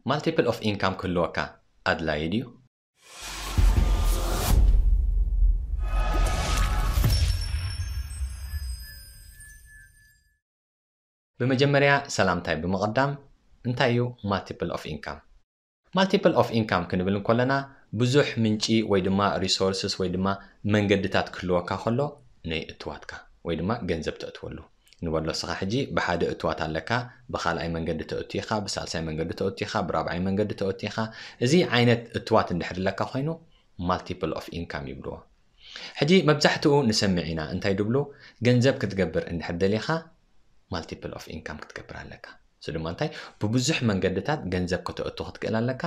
Multiple of income ክህልወካ ኣድላዪ ድዩ? ብመጀመርያ ሰላምታይ ብምቕዳም፣ እንታይ እዩ multiple of income? Multiple of income ክንብል እንከለና ብዙሕ ምንጪ ወይ ድማ resources ወይ ድማ መንገድታት ክህልወካ ከሎ፣ ናይ እትዋትካ ወይ ድማ ገንዘብ ተእትወሉ ንበሎ። እስኻ ሕጂ ብሓደ እትዋት ኣለካ፣ ብኻልኣይ መንገዲ ተእቱ ኢኻ፣ ብሳልሳይ መንገዲ ተእቱ ኢኻ፣ ብራብዓይ መንገዲ ተእቱ ኢኻ። እዚ ዓይነት እትዋት እንድሕር ኣለካ ኮይኑ multiple of income ይብልዎ። ሕጂ መብዛሕትኡ ንሰምዕ ኢና እንታይ ድብሉ፣ ገንዘብ ክትገብር እንድሕር ደሊኻ multiple of income ክትገብር ኣለካ። እሱ ድማ እንታይ፣ ብብዙሕ መንገድታት ገንዘብ ከተእቱ ክትክእል ኣለካ።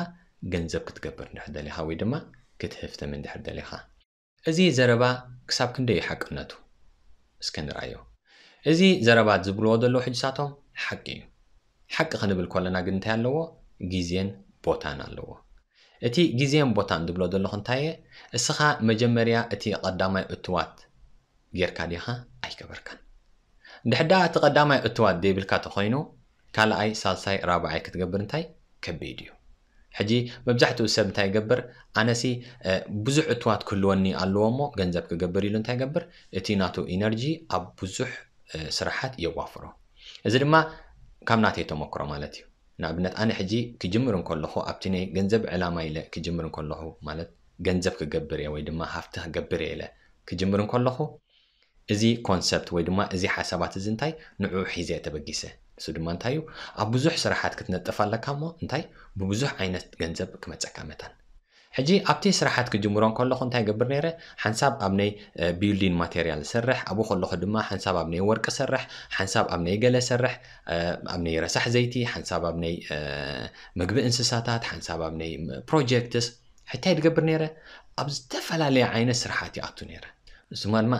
ገንዘብ ክትገብር እንድሕር ደሊኻ ወይ ድማ ክትህፍትም እንድሕር ደሊኻ፣ እዚ ዘረባ ክሳብ ክንደይ እዩ ሓቅነቱ እስከ ንርኣዮ። እዚ ዘረባ ዝብልዎ ዘለዉ ሕጂ ሳቶም ሓቂ እዩ። ሓቂ ክንብል ከለና ግን እንታይ ኣለዎ? ግዜን ቦታን ኣለዎ። እቲ ግዜን ቦታን ዝብሎ ዘለኹ እንታይ እየ? እስኻ መጀመርያ እቲ ቀዳማይ እትዋት ጌርካ ዲኻ? ኣይገበርካን። እንድሕር ደኣ እቲ ቀዳማይ እትዋት ዘይብልካ ተኾይኑ፣ ካልኣይ፣ ሳልሳይ፣ ራብዓይ ክትገብር እንታይ ከቢድ እዩ። ሕጂ መብዛሕትኡ ሰብ እንታይ ይገብር? ኣነሲ ብዙሕ እትዋት ክህልወኒ ኣለዎ እሞ ገንዘብ ክገብር ኢሉ እንታይ ይገብር? እቲ ናቱ ኢነርጂ ኣብ ብዙሕ ስራሓት የዋፍሮ። እዚ ድማ ካብ ናተይ ተመክሮ ማለት እዩ። ንኣብነት ኣነ ሕጂ ክጅምር እንከለኹ ኣብቲ ናይ ገንዘብ ዕላማ ኢለ ክጅምር እንከለኹ ማለት ገንዘብ ክገብር እየ ወይ ድማ ሃፍቲ ክገብር እየ ኢለ ክጅምር እንከለኹ እዚ ኮንሰፕት ወይ ድማ እዚ ሓሳባት እዚ እንታይ ንዕኡ ሒዘ እየ ተበጊሰ። ንሱ ድማ እንታይ እዩ? ኣብ ብዙሕ ስራሓት ክትነጥፍ ኣለካ እሞ እንታይ ብብዙሕ ዓይነት ገንዘብ ክመፀካ መታን። ሕጂ ኣብቲ ስራሓት ክጅምሮ እንከለኹ እንታይ ገብር ነይረ? ሓንሳብ ኣብ ናይ ቢልዲን ማቴሪያል ሰርሕ፣ ኣብኡ ከለኹ ድማ ሓንሳብ ኣብ ናይ ወርቂ ሰርሕ፣ ሓንሳብ ኣብ ናይ ገለ ሰርሕ፣ ኣብ ናይ ረሳሕ ዘይቲ፣ ሓንሳብ ኣብ ናይ ምግቢ እንስሳታት፣ ሓንሳብ ኣብ ናይ ፕሮጀክትስ። ሕታይ ድገብር ነይረ? ኣብ ዝተፈላለየ ዓይነት ስራሓት ይኣቱ ነይረ። ንሱ ድማ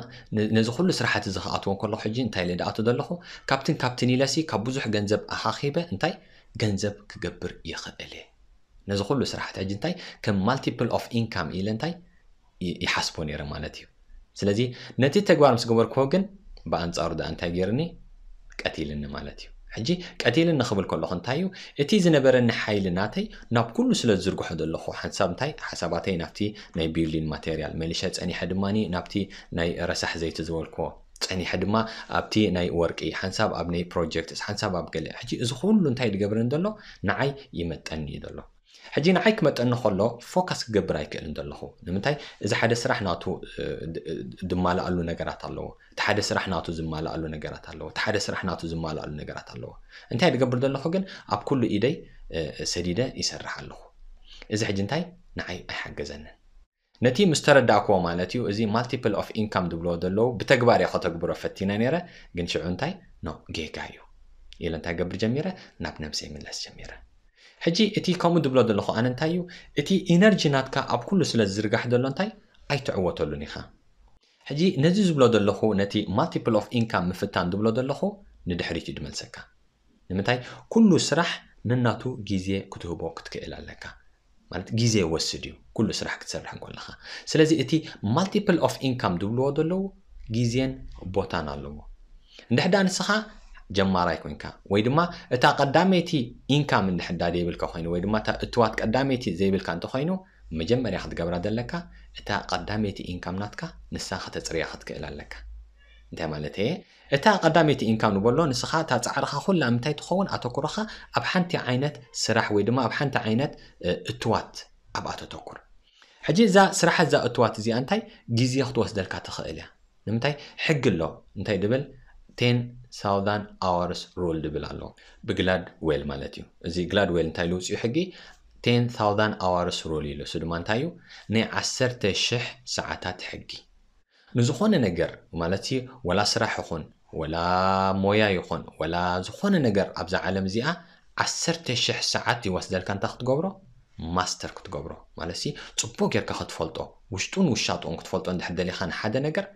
ነዚ ኩሉ ስራሓት እዚ ክኣትዎ ከለኹ ሕጂ እንታይ ኢለ ድኣቱ ዘለኹ? ካብትን ካብትን ኢለሲ ካብ ብዙሕ ገንዘብ ኣኻኺበ እንታይ ገንዘብ ክገብር ይኽእል እየ። ነዚ ኩሉ ስራሓት ሕጂ እንታይ ከም ማልቲፕል ኦፍ ኢንካም ኢለ እንታይ ይሓስቦ ነይረ ማለት እዩ። ስለዚ ነቲ ተግባር ምስ ገበርክዎ ግን ብኣንጻሩ ደኣ እንታይ ገይርኒ? ቀቲልኒ ማለት እዩ። ሕጂ ቀቲልኒ ክብል ከለኹ እንታይ እዩ? እቲ ዝነበረኒ ሓይሊ ናተይ ናብ ኩሉ ስለ ዝዝርግሖ ዘለኹ ሓንሳብ እንታይ ሓሳባተይ ናብቲ ናይ ቢልዲንግ ማቴሪያል መሊሸ ጸኒሐ ድማኒ ናብቲ ናይ ረሳሕ ዘይቲ ዝበልክዎ ጸኒሐ ድማ ኣብቲ ናይ ወርቂ ሓንሳብ ኣብ ናይ ፕሮጀክትስ ሓንሳብ ኣብ ገለ። ሕጂ እዚ ኩሉ እንታይ ድገብረኒ ዘሎ? ንዓይ ይመጠኒ እዩ ዘሎ። ሕጂ ንዓይ ክመጠኒ ከሎ ፎካስ ክገብር ኣይክእልን ዘለኹ። ንምንታይ? እዚ ሓደ ስራሕ ናቱ ድማልኣሉ ነገራት ኣለዎ። እቲ ሓደ ስራሕ ናቱ ዝማልኣሉ ነገራት ኣለዎ። እቲ ሓደ ስራሕ ናቱ ዝማልኣሉ ነገራት ኣለዎ። እንታይ ድገብር ዘለኹ ግን ኣብ ኩሉ ኢደይ ሰዲደ ይሰርሕ ኣለኹ። እዚ ሕጂ እንታይ ንዓይ ኣይሓገዘንን። ነቲ ምስ ተረዳእክዎ ማለት እዩ። እዚ ማልቲፕል ኦፍ ኢንካም ዝብልዎ ዘለዉ ብተግባር እየ ከተግብሮ ፈቲነ ነይረ። ግን ሽዑ እንታይ ኖ ጌጋ እዩ ኢለ እንታይ ገብር ጀሚረ ናብ ነብሰይ ምለስ ጀሚረ። ሕጂ እቲ ከምኡ ዝብሎ ዘለኹ ኣነ እንታይ እዩ እቲ ኢነርጂ ናትካ ኣብ ኩሉ ስለ ዝዝርጋሕ ዘሎ እንታይ ኣይትዕወተሉን ኢኻ። ሕጂ ነዚ ዝብሎ ዘለኹ ነቲ ማልቲፕል ኦፍ ኢንካም ምፍታን ዝብሎ ዘለኹ ንድሕሪት እዩ ድመልሰካ። ንምንታይ? ኩሉ ስራሕ ነናቱ ግዜ ክትህቦ ክትክእል ኣለካ። ማለት ግዜ ወስድ እዩ ኩሉ ስራሕ ክትሰርሕ እንኮለኻ። ስለዚ እቲ ማልቲፕል ኦፍ ኢንካም ዝብልዎ ዘለዉ ግዜን ቦታን ኣለዎ። እንድሕዳ ንስኻ ጀማራይ ኮንካ ወይ ድማ እታ ቀዳመይቲ ኢንካም እንድሕዳ ዘይብልካ ኮይኑ ወይ ድማ እታ እትዋት ቀዳመይቲ ዘይብልካ እንተኮይኑ መጀመርያ ክትገብራ ዘለካ እታ ቀዳመይቲ ኢንካም ናትካ ንሳ ከተፅርያ ክትክእል ኣለካ። እንታይ ማለት እየ? እታ ቀዳመይቲ ኢንካም ንበሎ ንስኻ እታ ፃዕርኻ ኩላ ምንታይ ትኸውን ኣተኩሮኻ ኣብ ሓንቲ ዓይነት ስራሕ ወይ ድማ ኣብ ሓንቲ ዓይነት እትዋት ኣብኣ ተተኩር። ሕጂ እዛ ስራሕ እዛ እትዋት እዚኣ እንታይ ግዜ ክትወስደልካ ትኽእል እያ። ንምንታይ ሕጊ ኣሎ እንታይ ድብል ten thousand hours rule ድብል ኣሎ ብግላድ ዌል ማለት እዩ። እዚ ግላድ ዌል እንታይ ልውፅኡ ሕጊ ten thousand hours rule ኢሉ እሱ ድማ እንታይ እዩ ናይ ዓሰርተ ሽሕ ሰዓታት ሕጊ። ንዝኾነ ነገር ማለት ወላ ስራሕ ይኹን ወላ ሞያ ይኹን ወላ ዝኾነ ነገር ኣብዛ ዓለም እዚኣ ዓሰርተ ሽሕ ሰዓት ይወስደልካ እንታይ ክትገብሮ ማስተር ክትገብሮ ማለት ጽቡቅ ጌርካ ክትፈልጦ ውሽጡን ውሻጡን ክትፈልጦ እንድሕር ደሊኻ ንሓደ ነገር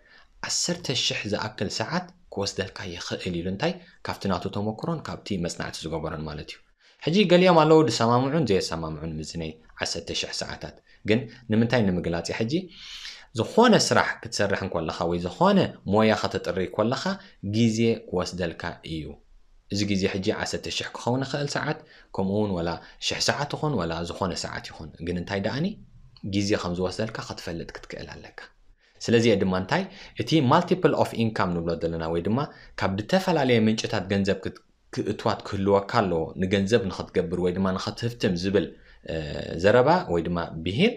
ዓሰርተ ሽሕ ዝኣክል ሰዓት ክወስደልካ ይኽእል ኢሉ እንታይ ካብቲ ናቱ ተመክሮን ካብቲ መጽናዕቲ ዝገበሮን ማለት እዩ። ሕጂ ገሊኦም ኣለዉ ዝሰማምዑን ዘየሰማምዑን ምስዚ ናይ ዓሰርተ ሽሕ ሰዓታት። ግን ንምንታይ ንምግላጽ ሕጂ ዝኾነ ስራሕ ክትሰርሕ እንኮለኻ ወይ ዝኾነ ሞያ ከተጥሪ ኮለኻ ግዜ ክወስደልካ እዩ። እዚ ግዜ ሕጂ ዓሰርተ ሽሕ ክኸውን ይኽእል ሰዓት፣ ከምኡ እውን ወላ ሽሕ ሰዓት ይኹን ወላ ዝኾነ ሰዓት ይኹን፣ ግን እንታይ ደኣኒ ግዜ ከም ዝወስደልካ ክትፈልጥ ክትክእል ኣለካ። ስለዚ ድማ እንታይ እቲ multiple of income ንብሎ ዘለና ወይ ድማ ካብ ዝተፈላለየ ምንጭታት ገንዘብ ክት- ክእትዋት ክህልወካ ኣለዎ፣ ንገንዘብ ንኽትገብር ወይ ድማ ንኽትህፍትም ዝብል ዘረባ ወይ ድማ ብሂል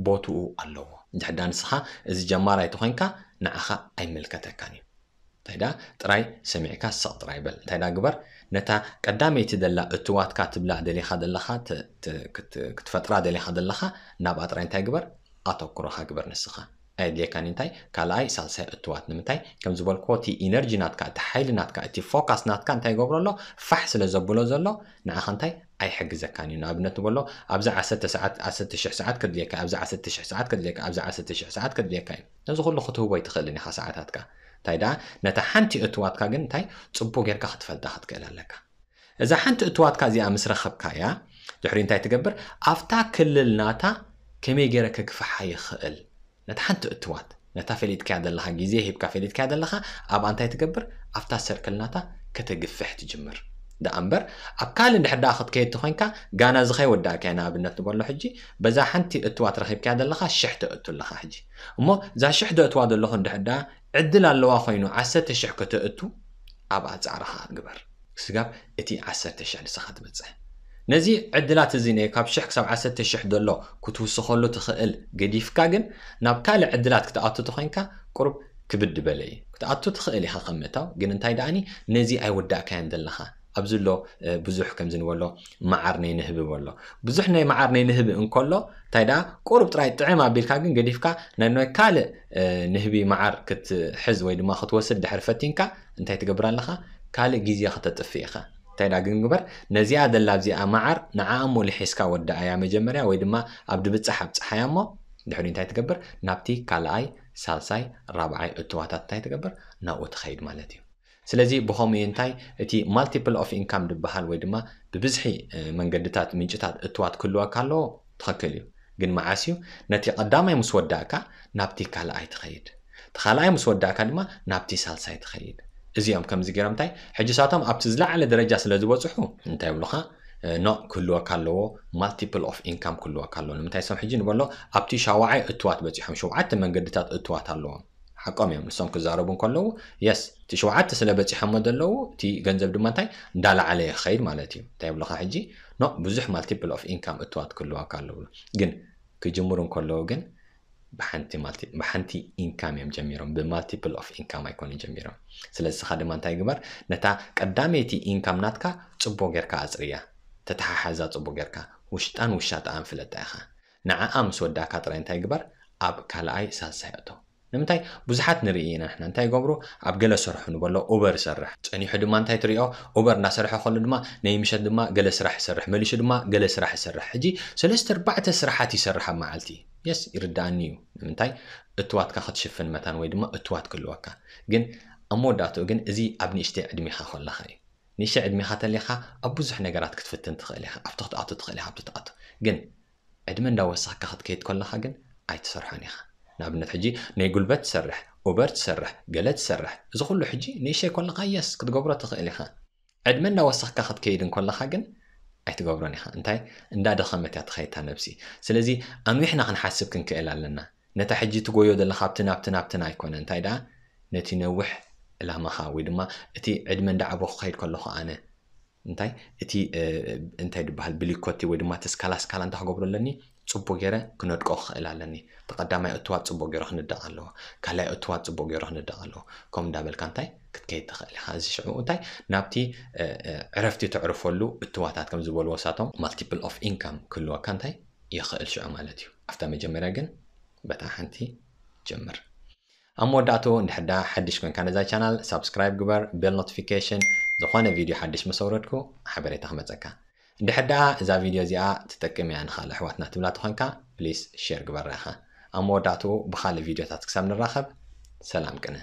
ቦትኡ ኣለዎ። እንድሕዳ ንስኻ እዚ ጀማራይ ተኾይንካ ንዓኻ ኣይምልከተካን እዩ። እንታይ ዳ ጥራይ ሰሚዕካ ስቕ ጥራይ በል። እንታይ ዳ ግበር፣ ነታ ቀዳመይቲ ደላ እትዋትካ ትብላ ደሊኻ ዘለኻ ክትፈጥራ ደሊኻ ዘለኻ ናብኣ ጥራይ እንታይ ግበር፣ ኣተኩሮኻ ግበር ንስኻ። ኣየድልየካን እንታይ ካልኣይ ሳልሳይ እትዋት ንምንታይ ከም ዝበልክዎ እቲ ኢነርጂ ናትካ እቲ ሓይሊ ናትካ እቲ ፎካስ ናትካ እንታይ ይገብሮ ኣሎ ፋሕ ስለ ዘብሎ ዘሎ ንዓኻ እንታይ ኣይሕግዘካን እዩ። ንኣብነት ንበሎ ኣብዚ ዓሰርተ ሰዓት ዓሰርተ ሽሕ ሰዓት ከድልየካ ኣብዚ ዓሰርተ ሽሕ ሰዓት ከድልየካ ኣብዚ ዓሰርተ ሽሕ ሰዓት ከድልየካ እዩ። ነዚ ኩሉ ክትህቦ ኣይትኽእልን ኢኻ ሰዓታትካ። እንታይ ደኣ ነታ ሓንቲ እትዋትካ ግን እንታይ ጽቡቅ ጌርካ ክትፈልጣ ክትክእል ኣለካ። እዛ ሓንቲ እትዋትካ እዚኣ ምስ ረኸብካያ ድሕሪ እንታይ ትገብር ኣብታ ክልል ናታ ከመይ ገይረ ከግፍሓ ይኽእል ነታ ሓንቲ እትዋት ነታ ፈሊጥካያ ዘለኻ ግዜ ሂብካ ፈሊጥካያ ዘለኻ ኣብኣ እንታይ ትገብር ኣብታ ሰርክል ናታ ከተግፍሕ ትጅምር። ደኣ እምበር ኣብ ካልእ እንድሕር ደኣ ክትከይድ ተኾይንካ ጋና እዚ ከይወዳእካያ ንኣብነት ንበሎ ሕጂ በዛ ሓንቲ እትዋት ረኺብካያ ዘለኻ ሽሕ ተእቱ ኣለኻ ሕጂ እሞ እዛ ሽሕ ደእትዋ ዘለኹ እንድሕር ደኣ ዕድል ኣለዋ ኮይኑ ዓሰርተ ሽሕ ከተእቱ ኣብኣ ጻዕርኻ ግበር። ስጋብ እቲ ዓሰርተ ሽሕ ንስኻ ትበጽሕ። ነዚ ዕድላት እዚ ናይ ካብ ሽሕ ክሳብ ዓሰርተ ሽሕ ዘሎ ክትውስኸሉ ትኽእል ገዲፍካ ግን ናብ ካልእ ዕድላት ክትኣቱ ተኾይንካ ቁሩብ ክብድ በለ እዩ። ክትኣቱ ትኽእል ኢኻ ከም ምእታው ግን እንታይ ደኣኒ ነዚ ኣይወዳእካያን ዘለኻ ኣብዚ ኣሎ ብዙሕ ከምዚ ንበሎ መዓር ናይ ንህቢ በሎ ብዙሕ ናይ መዓር ናይ ንህቢ እንከሎ እንታይ ደኣ ቁሩብ ጥራይ ጥዕም ኣቢልካ ግን ገዲፍካ ናይ ካልእ ንህቢ መዓር ክትሕዝ ወይ ድማ ክትወስድ ድሕር ፈቲንካ እንታይ ትገብር ኣለኻ ካልእ ግዜ ከተጥፍእ ኢኻ እንታይ ደኣ ግን ግበር ነዚኣ ደላ ኣብዚኣ መዓር ንዓኣ እሞ ልሒስካ ወዳኣያ መጀመርያ ወይ ድማ ኣብ ድብጻሕ ኣብጽሓያ እሞ ድሕሪ እንታይ ትገብር ናብቲ ካልኣይ ሳልሳይ ራብዓይ እትዋታት እንታይ ትገብር ናብኡ ትኸይድ ማለት እዩ። ስለዚ ብኸምኡ እንታይ እቲ multiple of income ዝበሃል ወይ ድማ ብብዝሒ መንገድታት ምንጭታት እትዋት ክህልወካ ኣለዎ ትኽክል እዩ ግን መዓስ እዩ ነቲ ቀዳማይ ምስ ወዳእካ ናብቲ ካልኣይ ትኸይድ እቲ ካልኣይ ምስ ወዳእካ ድማ ናብቲ ሳልሳይ ትኸይድ እዚኦም ከምዚ ገይሮም እንታይ ሕጂ ሳቶም ኣብቲ ዝለዓለ ደረጃ ስለ ዝበፅሑ እንታይ ይብሉኻ ኖ ክህልወካ ኣለዎ multiple of income ክህልወካ ኣለዎ ንምንታይ ሶም ሕጂ ንበሎ ኣብቲ ሻውዓይ እትዋት በፂሖም ሸውዓተ መንገድታት እትዋት ኣለዎም ሓቆም እዮም ንሶም ክዛረቡ እንከለዉ የስ እቲ ሸውዓተ ስለ በፂሖሞ ዘለዉ እቲ ገንዘብ ድማ እንታይ እንዳለዓለ ይኸይድ ማለት እዩ እንታይ ይብሉኻ ሕጂ ኖ ብዙሕ multiple of income እትዋት ክህልወካ ኣለዉ ግን ክጅምሩ እንከለዉ ግን ብሓንቲ income እዮም ጀሚሮም ብ multiple of income ኣይኮኑን ጀሚሮም ስለዚ ስኻ ድማ እንታይ ግበር ነታ ቀዳመይቲ income ናትካ ፅቡቅ ጌርካ ኣፅርያ ተተሓሓዛ ፅቡቅ ጌርካ ውሽጣን ውሻጣኣን ፍለጣ ኢኻ ንዓኣ ምስ ወዳእካ ጥራይ እንታይ ግበር ኣብ ካልኣይ ሳልሳይ እቶ ንምንታይ ብዙሓት ንርኢ ኢና ንሕና እንታይ ይገብሩ ኣብ ገለ ስርሑ ንበሎ ኡበር ይሰርሕ ጸኒሑ ድማ እንታይ ትሪኦ ኡበር እናሰርሐ ከሎ ድማ ናይ ምሸት ድማ ገለ ስራሕ ይሰርሕ መሊሹ ድማ ገለ ስራሕ ይሰርሕ ሕጂ ሰለስተ ኣርባዕተ ስራሓት ይሰርሕ ኣብ መዓልቲ የስ ይርዳኣኒ እዩ ንምንታይ እትዋትካ ክትሽፍን መታን ወይ ድማ እትዋት ክህልወካ ግን ኣብ መወዳእትኡ ግን እዚ ኣብ ንእሽተይ ዕድሜኻ ከለኻ እዩ ንእሽተይ ዕድሜኻ ተሊኻ ኣብ ብዙሕ ነገራት ክትፍትን ትኽእል ኢኻ ኣብቲ ክትኣቱ ትኽእል ኢኻ ኣብቲ ትኣቱ ግን ዕድመ እንዳወሰኽካ ክትከይድ ከለኻ ግን ኣይትሰርሖን ኢኻ ንኣብነት ሕጂ ናይ ጉልበት ትሰርሕ ኡበር ትሰርሕ ገለ ትሰርሕ እዚ ኩሉ ሕጂ ንእሽተይ ከለኻ የስ ክትገብሮ ትኽእል ኢኻ ዕድመ እንዳወሰኽካ ክትከይድ እንከለኻ ግን ኣይትገብሮን ኢኻ እንታይ እንዳደኸመት እያ ትኸይታ ነብሲ ስለዚ ኣንዊሕና ክንሓስብ ክንክእል ኣለና ነታ ሕጂ ትጎዮ ዘለኻ ኣብቲ ናብቲ ናብትን ኣይኮነ እንታይ ደኣ ነቲ ነውሕ ዕላማኻ ወይ ድማ እቲ ዕድመ እንዳዓበኹ ክኸይድ ከለኹ ኣነ እንታይ እቲ እንታይ ዝበሃል ብሊኮቲ ወይ ድማ እቲ ስካላ ስካላ እንታይ ክገብሮ ኣለኒ ፅቡቅ ገይረ ክነድቆ ክኽእል ኣለኒ እቲ ቀዳማይ እትዋት ፅቡቅ ገይሩ ክንዳቕ ኣለዎ ካልኣይ እትዋት ፅቡቅ ገይሩ ክንዳቕ ኣለዎ ከም እንዳበልካ እንታይ ክትከይድ ትኽእል ኢኻ እዚ ሽዑ እንታይ ናብቲ ዕረፍቲ ተዕርፈሉ እትዋታት ከም ዝበልዎ ሳቶም multiple of income ክህልወካ እንታይ ይኽእል ሽዑ ማለት እዩ ኣብታ መጀመርያ ግን በታ ሓንቲ ጀምር ኣብ መወዳእቱ እንድሕዳ ሓድሽ ኮንካ ነዛ ቻናል ሳብስክራይብ ግበር ቤል ኖቲፊኬሽን ዝኾነ ቪድዮ ሓድሽ ምስ ኣውረድኩ ሓበሬታ ክመፀካ እንድሕር ደኣ እዛ ቪድዮ እዚኣ ትጠቅም እያ ንኻልእ ኣሕዋትና ትብላ ተኾንካ ፕሊስ ሼር ግበራ ኢኻ ኣብ መወዳእትኡ ብኻልእ ቪድዮታት ክሳብ ንራኸብ ሰላም ቅነ